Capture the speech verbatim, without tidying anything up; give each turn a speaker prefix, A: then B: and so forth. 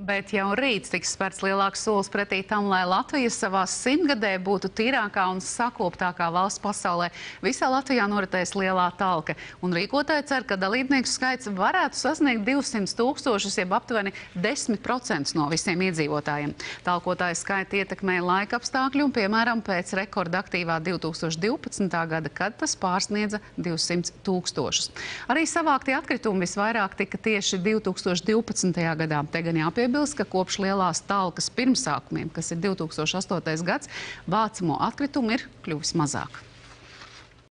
A: Bet jau rīt tiks spērts lielāks solis pretī tam, lai Latvija savā simtgadē būtu tīrākā un sakoptākā valsts pasaulē. Visā Latvijā noritēs lielā talka, un rīkotāji cer, ka dalībnieku skaits varētu sasniegt divsimt tūkstošus, jeb aptuveni desmit procentus no visiem iedzīvotājiem. Talkotāju skaitu ietekmē laika apstākļi un, piemēram, pēc rekorda aktīvā divi tūkstoši divpadsmitā gada, kad tas pārsniedza divsimt tūkstošus. Arī savāktie atkritumi visvairāk tika tieši divi tūkstoši divpadsmitajā gadā. Te gan jāpiebilst, ka kopš lielās talkas pirmsākumiem, kas ir divi tūkstoši astotais gads, vācamo atkritumu ir kļuvis mazāk.